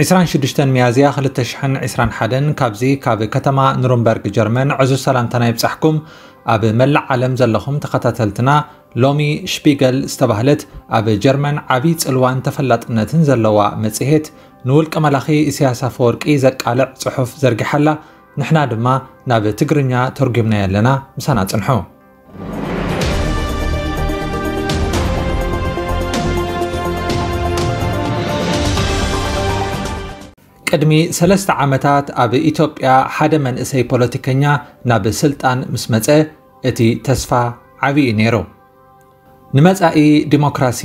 ዕስራን ሽዱሽተን ሚያዝያ ክልተ ሽሕን ዕስራን ሓደን ካብዚ ካብ ከተማ ኑርንበርግ ጀርመን ዕዙዝ ሰላምታና ይብጻሕኩም። ኣብ መላእ ዓለም ዘለኹም ተኸታተልትና፣ ሎሚ ሽፒገል ዝተባህለት ኣብ ጀርመን ዓቢ ጽልዋን ተፈላጥነትን ዘለዋ መጽሔት፣ ንውልቀ መላኺ ኢሳያስ ኣፈወርቂ ዘቃልዕ ጽሑፍ ዘርጊሓላ። ንሕና ድማ ናብ ትግርኛ ተርጒምናዮ ኣለና። ምሳና ጽንሑ። ቅድሚ ሰለስተ ዓመታት ኣብ ኢትዮጵያ ሓደ መንእሰይ ፖለቲከኛ ናብ ስልጣን ምስ መጸ፣ እቲ ተስፋ ዓቢ እዩ ነይሩ። ንመጻኢ ዲሞክራሲ፣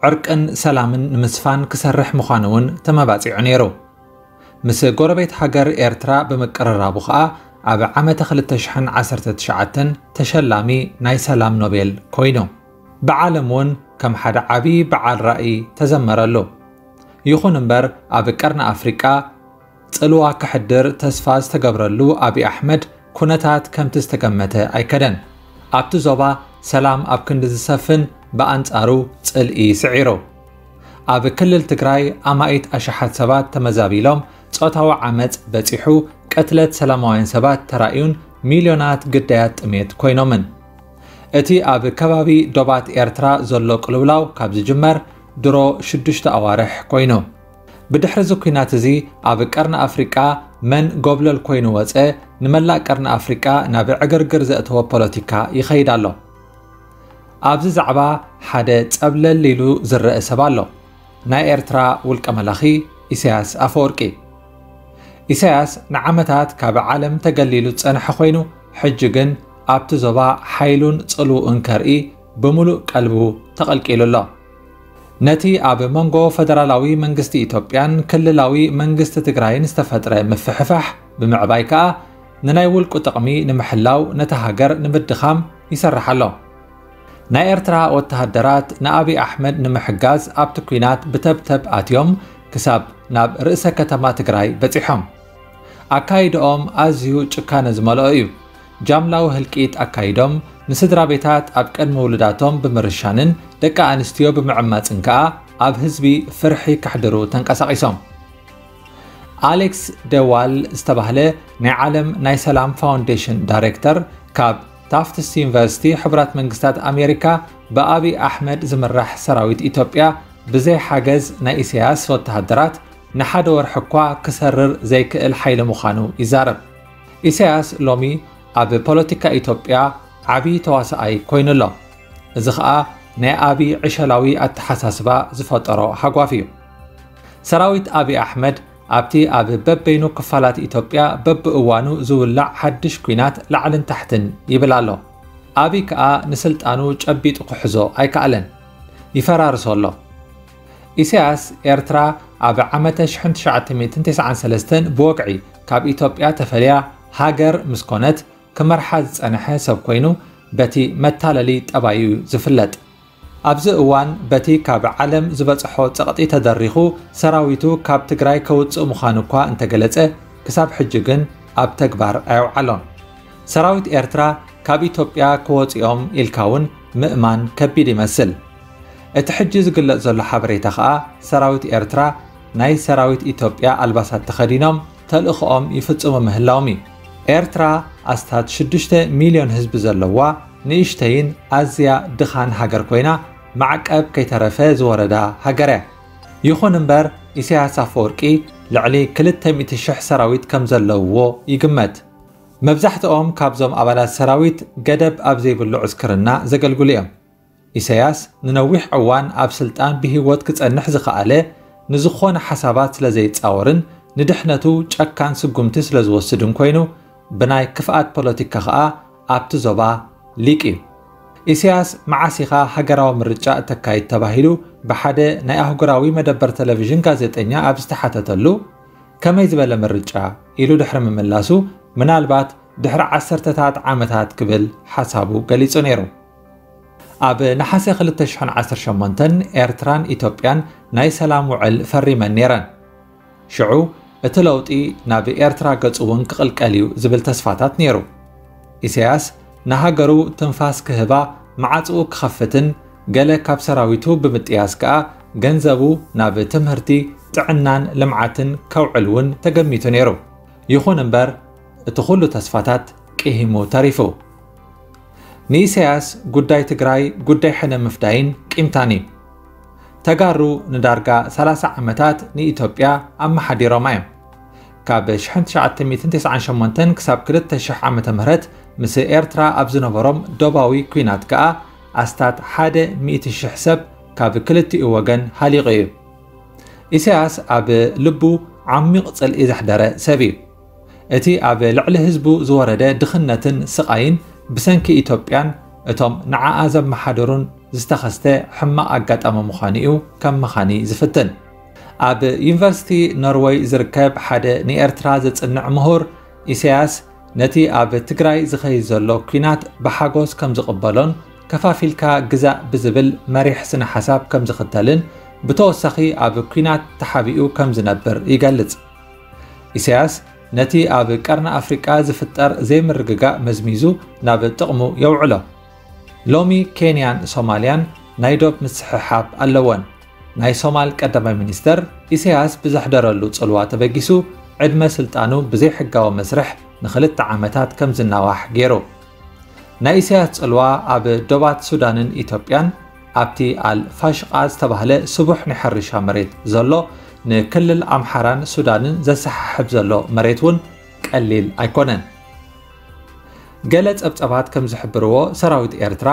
ዕርቅን ሰላምን ንምስፋን ክሰርሕ ምዃኑ እውን ተመባጺዑ ነይሩ። ምስ ጎረቤት ሃገር ኤርትራ ብምቅርራቡ ኸኣ፣ ኣብ ዓመተ ክልተ ሽሕን ዓሰርተ ትሽዓተን ተሸላሚ ናይ ሰላም ኖቤል ኮይኑ። ብዓለም እውን ከም ሓደ ዓቢ በዓል ራእይ ተዘመረሉ። ይኹን እምበር፣ ኣብ ቀርኒ ኣፍሪቃ ጽልዋ ከሕድር ተስፋ ዝተገብረሉ ኣቢ ኣሕመድ፣ ኩነታት ከምቲ ዝተገመተ ኣይከደን። ኣብቲ ዞባ ሰላም ኣብ ክንዲ ዝሰፍን፣ ብኣንጻሩ ጽልኢ ስዒሩ። ኣብ ክልል ትግራይ ኣማኢት ኣሽሓት ሰባት ተመዛቢሎም፣ ጾታዊ ዓመጽ በጺሑ፣ ቅትለት ሰላማውያን ሰባት ተራእዩን ሚልዮናት ግዳያት ጥሜት ኮይኖምን። እቲ ኣብ ከባቢ ዶባት ኤርትራ ዘሎ ቅልውላው ካብ ዝጅመር ድሮ ሽዱሽተ ኣዋርሕ ኮይኑ። ብድሕሪ እዚ ኲናት እዚ ኣብ ቀርኒ ኣፍሪቃ መን ጎብለል ኮይኑ ወጸ፣ ንመላእ ቀርኒ ኣፍሪቃ ናብ ዕግርግር ዘእተወ ፖለቲካ ይኸይድ ኣሎ። ኣብዚ ዛዕባ ሓደ ጸብለል ኢሉ ዝረአ ሰብ ኣሎ። ናይ ኤርትራ ውልቀ መላኺ ኢሳያስ ኣፈወርቂ። ኢሳያስ ንዓመታት ካብ ዓለም ተገሊሉ ዝጸንሐ ኮይኑ፣ ሕጂ ግን ኣብቲ ዞባ ሓይሉን ጽልውኡን ከርኢ ብምሉእ ቀልቡ ተቐልቂሉ ኣሎ። ነቲ ኣብ መንጎ ፈደራላዊ መንግስቲ ኢትዮጵያን ክልላዊ መንግስቲ ትግራይን ዝተፈጥረ ምፍሕፋሕ ብምዕባይ ከኣ፣ ንናይ ውልቁ ጥቕሚ ንምሕላው ነታ ሃገር ንምድኻም ይሰርሕ ኣሎ። ናይ ኤርትራ ወተሃደራት ንኣቢ ኣሕመድ ንምሕጋዝ ኣብቲ ኲናት ብተብተብ ኣትዮም፣ ክሳብ ናብ ርእሰ ከተማ ትግራይ በጺሖም። ኣካይድኦም ኣዝዩ ጭካነ ዝመልኦ እዩ። ጃምላዊ ህልቂት ኣካይዶም፣ ንስድራ ቤታት ኣብ ቅድሚ ውሉዳቶም ብምርሻንን ደቂ ኣንስትዮ ብምዕማጽን ከኣ፣ ኣብ ህዝቢ ፍርሒ ከሕድሩ ተንቀሳቒሶም። ኣሌክስ ደዋል ዝተባህለ ናይ ዓለም ናይ ሰላም ፋውንዴሽን ዳይሬክተር፣ ካብ ታፍትስ ዩኒቨርሲቲ ሕቡራት መንግስታት ኣሜሪካ፣ ብኣቢ ኣሕመድ ዝምራሕ ሰራዊት ኢትዮጵያ ብዘይ ሓገዝ ናይ ኢሳያስ ወተሃደራት ንሓደ ወርሒ እኳ ክሰርር ዘይክእል ሓይሊ ምዃኑ ይዛረብ። ኢሳያስ ሎሚ ኣብ ፖለቲካ ኢትዮጵያ ዓቢ ተዋሳኣይ ኮይኑ ኣሎ። እዚ ኸኣ ናይ ኣቢ ዕሸላዊ ኣተሓሳስባ ዝፈጠሮ ሃጓፍ እዩ። ሰራዊት ኣቢ ኣሕመድ ኣብቲ ኣብ በበይኑ ክፋላት ኢትዮጵያ በብእዋኑ ዝውላዕ ሓድሽ ኲናት ላዕልን ታሕትን ይብል ኣሎ። ኣቢ ከኣ ንስልጣኑ ጨቢጡ ክሕዞ ኣይከኣለን። ይፈራርሶ ኣሎ። ኢሳያስ ኤርትራ ኣብ ዓመተ ሽሕን ትሽዓተ ሚእትን ተስዓን ሰለስተን ብወግዒ ካብ ኢትዮጵያ ተፈልያ ሃገር ምስ ኮነት፣ ክመርሓ ዝጸንሐ ሰብ ኮይኑ፣ በቲ መታለሊ ጠባዩ እዩ ዝፍለጥ። ኣብዚ እዋን በቲ ካብ ዓለም ዝበጽሖ ጸቕጢ ተደሪኹ፣ ሰራዊቱ ካብ ትግራይ ከውጽእ ምዃኑ እኳ እንተገለጸ፣ ክሳብ ሕጂ ግን ኣብ ተግባር ኣየውዓሎን። ሰራዊት ኤርትራ ካብ ኢትዮጵያ ክወጽኦም ኢልካ እውን ምእማን ከቢድ ይመስል። እቲ ሕጂ ዝግለጽ ዘሎ ሓበሬታ ኸኣ፣ ሰራዊት ኤርትራ ናይ ሰራዊት ኢትዮጵያ ኣልባሳት ተኸዲኖም ተልእኾኦም ይፍጽሙ ምህላዎም እዩ። ኤርትራ ኣስታት ሽዱሽተ ሚልዮን ህዝቢ ዘለዋ ንእሽተይን ኣዝያ ድኻን ሃገር ኮይና፣ ማዕቀብ ከይተረፈ ዝወረዳ ሃገር እያ። ይኹን እምበር፣ ኢሳያስ ኣፈወርቂ ልዕሊ ክልተ ሚእቲ ሽሕ ሰራዊት ከም ዘለውዎ ይግመት። መብዛሕትኦም ካብዞም ኣባላት ሰራዊት ገደብ ኣብ ዘይብሉ ዕስክርና ዘገልግሉ እዮም። ኢሳያስ ንነዊሕ እዋን ኣብ ስልጣን ብህይወት ክጸንሕ ዝኸኣለ፣ ንዝኾነ ሓሳባት ስለ ዘይጻወርን ንድሕነቱ ጨካን ስጉምቲ ስለ ዝወስድን ኮይኑ፣ ብናይ ክፍኣት ፖለቲካ ኸኣ ኣብቲ ዞባ ሊቅ እዩ። ኢሳያስ፣ መዓስ ኢኻ ሃገራዊ ምርጫ እተካይድ ተባሂሉ ብሓደ ናይ ኣህጉራዊ መደበር ቴሌቪዥን ጋዜጠኛ ኣብ ዝተሓተተሉ፣ ከመይ ዝበለ ምርጫ? ኢሉ ድሕሪ ምምላሱ፣ ምናልባት ድሕሪ ዓሰርተታት ዓመታት ክብል ሓሳቡ ገሊጹ ነይሩ። ኣብ ነሓሰ ክልተ ሽሕን ዓሰርተ ሸሞንተን ኤርትራን ኢትዮጵያን ናይ ሰላም ውዕል ፈሪመን ነይረን። ሽዑ እቲ ለውጢ ናብ ኤርትራ ገጹ እውን ክቕልቀል እዩ ዝብል ተስፋታት ነይሩ። ኢሳያስ ንሃገሩ ትንፋስ ክህባ፣ ማዕጽኡ ክኸፍትን ገለ ካብ ሰራዊቱ ብምጥያስ ከኣ ገንዘቡ ናብ ትምህርቲ፣ ጥዕናን ልምዓትን ከውዕል እውን ተገሚቱ ነይሩ። ይኹን እምበር እቲ ኩሉ ተስፋታት ቅሂሙ ተሪፉ። ንኢሳያስ ጉዳይ ትግራይ ጉዳይ ሕነ ምፍዳይን ቂምታን እዩ። ተጋሩ ንዳርጋ ሰላሳ ዓመታት ንኢትዮጵያ ኣመሓዲሮማ እዮም። ካብ ሽሕን ትሽዓተ ሚእትን ተስዓን ሸሞንተን ክሳብ ክልተ ሽሕ ዓመተ ምህረት ምስ ኤርትራ ኣብ ዝነበሮም ዶባዊ ኲናት ከኣ ኣስታት ሓደ ሚእቲ ሽሕ ሰብ ካብ ክልቲኡ ወገን ሃሊቑ እዩ። ኢሳያስ ኣብ ልቡ ዓሚቕ ጽልኢ ዘሕደረ ሰብ እዩ። እቲ ኣብ ልዕሊ ህዝቡ ዝወረደ ድኽነትን ስቓይን ብሰንኪ ኢትዮጵያን እቶም ንዓኣ ዘመሓደሩን ዝተኸስተ ሕማቕ ኣጋጣሚ ምዃኑ እዩ ከም መኻኒ ዝፍትን። ኣብ ዩኒቨርሲቲ ኖርወይ ዝርከብ ሓደ ንኤርትራ ዘጽንዕ ምሁር ኢሳያስ ነቲ ኣብ ትግራይ ዝኸይድ ዘሎ ኲናት ብሓጎስ ከም ዝቕበሎን ከፋፊልካ ግዛእ ብዝብል መሪሕ ስነ ሓሳብ ከም ዝኽተልን ብተወሳኺ ኣብ ኲናት ተሓቢኡ ከም ዝነብር ይገልጽ። ኢሳያስ ነቲ ኣብ ቀርኒ ኣፍሪቃ ዝፍጠር ዘይምርግጋእ መዝሚዙ ናብ ጥቕሙ የውዕሎ። ሎሚ ኬንያን ሶማልያን ናይ ዶብ ምስሕሓብ ኣለወን። ናይ ሶማል ቀዳማይ ሚኒስተር ኢሳያስ ብዘሕደረሉ ጽልዋ ተበጊሱ ዕድመ ስልጣኑ ብዘይሕጋዊ መስርሕ ንኽልተ ዓመታት ከም ዝናዋሕ ገይሩ። ናይ ኢሳያስ ጽልዋ ኣብ ዶባት ሱዳንን ኢትዮጵያን ኣብቲ ኣል ፋሽቃ ዝተባህለ ስቡሕ ናይ ሕርሻ መሬት ዘሎ ንክልል ኣምሓራን ሱዳንን ዘሰሓሕብ ዘሎ መሬት እውን ቀሊል ኣይኮነን። ገለ ጸብጸባት ከም ዝሕብርዎ ሰራዊት ኤርትራ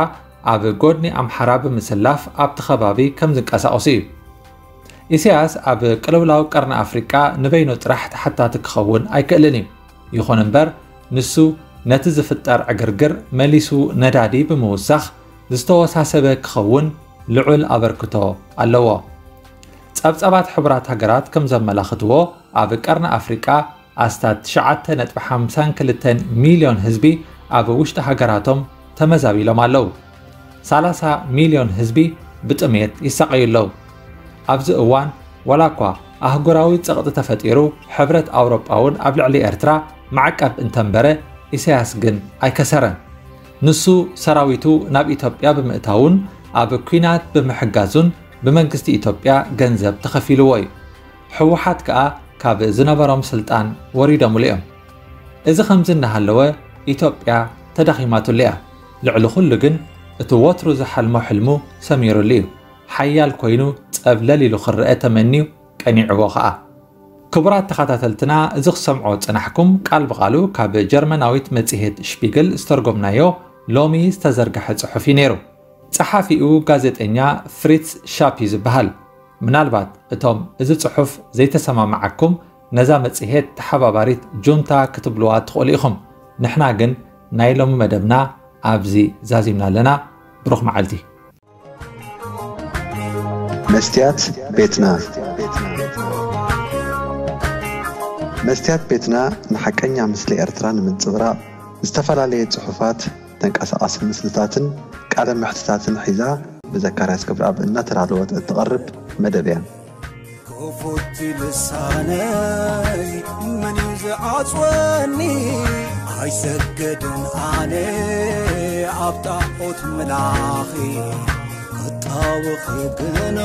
ኣብ ጎድኒ ኣምሓራ ብምስላፍ ኣብቲ ከባቢ ከም ዝንቀሳቐሱ እዩ። ኢሳያስ ኣብ ቅልውላው ቀርኒ ኣፍሪቃ ንበይኑ ጥራሕ ተሓታቲ ክኸውን ኣይክእልን እዩ። ይኹን እምበር ንሱ ነቲ ዝፍጠር ዕግርግር መሊሱ ነዳዲ ብምውሳኽ ዝተወሳሰበ ክኸውን ልዑል ኣበርክቶ ኣለዎ። ጸብጸባት ሕቡራት ሃገራት ከም ዘመላኽትዎ ኣብ ቀርኒ ኣፍሪቃ ኣስታት ትሽዓተ ነጥቢ ሓምሳን ክልተን ሚልዮን ህዝቢ ኣብ ውሽጢ ሃገራቶም ተመዛቢሎም ኣለዉ። ሰላሳ ሚልዮን ህዝቢ ብጥሜት ይሳቐዩ ኣለዉ። ኣብዚ እዋን ዋላ እኳ ኣህጉራዊ ጸቕጢ ተፈጢሩ ሕብረት ኣውሮጳ እውን ኣብ ልዕሊ ኤርትራ ማዕቀብ እንተንበረ ኢሳያስ ግን ኣይከሰረን። ንሱ ሰራዊቱ ናብ ኢትዮጵያ ብምእታውን ኣብ ኲናት ብምሕጋዙን ብመንግስቲ ኢትዮጵያ ገንዘብ ተኸፊልዎ እዩ። ህወሓት ከኣ ካብ ዝነበሮም ስልጣን ወሪዶምሉ እዮም። እዚ ከምዚ እናሃለወ ኢትዮጵያ ተዳኺማትሉ እያ። ልዕሊ ኩሉ ግን እቲ ወትሩ ዝሓልሞ ሕልሙ ሰሚሩሉ እዩ። ሓያል ኮይኑ ጸብለል ኢሉ ክረአ ተመንዩ ቀኒዕዎ ኸኣ። ክቡራት ተኸታተልትና፣ እዚ ክሰምዖ ዝጸናሕኩም ቃል ብቓሉ ካብ ጀርመናዊት መጽሔት ሽፒግል ዝተርጎምናዮ ሎሚ ዝተዘርግሐ ጽሑፍ እዩ ነይሩ። ጸሓፊኡ ጋዜጠኛ ፍሪትስ ሻፕ እዩ ዝበሃል። ምናልባት እቶም እዚ ጽሑፍ ዘይተሰማምዓኩም ነዛ መጽሔት ተሓባባሪት ጁንታ ክትብልዋ ትኽእሉ ኢኹም። ንሕና ግን ናይ ሎሚ መደብና ኣብዚ ዛዚምና ኣለና። ብሩኽ መዓልቲ። መስትያት ቤትና። መስትያት ቤትና ንሓቀኛ ምስሊ ኤርትራ ንምንጽብራቕ ዝተፈላለየ ጽሑፋት፣ ተንቀሳቓሲ ምስልታትን ቃለ መሕትታትን ሒዛ ብዘካርያስ ገብረኣብ እናተዳለወት እትቐርብ መደብ እያ። ክፉት ልሳነይ መን እዩ ዝዓጽወኒ? ኣይሰግድን ኣነ ኣብ ጣዖት ምላኺ። ክጣወኺ ግና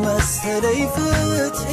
መሰለይ ፍትሒ።